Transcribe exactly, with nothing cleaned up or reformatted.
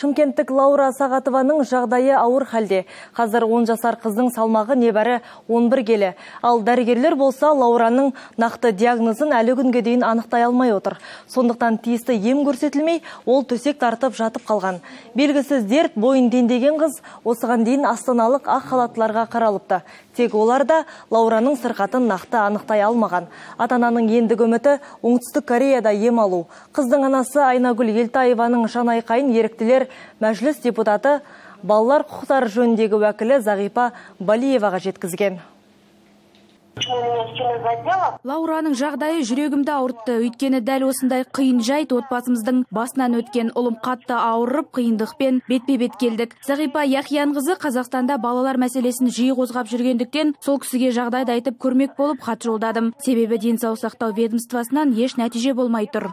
Шымкенттік Лаура Сағатованың жағдайы ауыр халде. Қазір он жасар қыздың салмағы небәрі он бір келі. Ал дәрігерлер болса Лаураның нақты диагнозын әлі күнге дейін анықтай алмай отыр. Сондықтан тиісті ем көрсетілмей, ол төсек тартып жатып қалған. Белгісіз дерт бойын дендеген қыз осыған дейін астаналық ақ халаттыларға қаралыпты. Тек олар да Лаураның сырқатын нақты анықтай алмаған. Ата-ананың ендігі үміті Оңтүстік Кореяда ем алу. Қыздың анасы Айнагүл Елтаеваның жанайқайын еріктілер мәжіліс депутаты, балалар құқықтары жөніндегі уәкілі Зағипа Балиеваға жеткізген. Лаураның жағдайы жүрегімді ауыртты. Өйткені дәл осындай қиын жайт отбасымыздың басынан өткен. Ұлым қатты ауырып, қиындықпен бетпе-бет келдік. Зағипа Яхиянқызы Қазақстанда балалар мәселесін жиі қозғап жүргендіктен, сол кісіге жағдайды айтып көрмек болып хат жолдадым. Себебі денсаулық сақтау ведомствосынан еш нәтиже болмай тұр.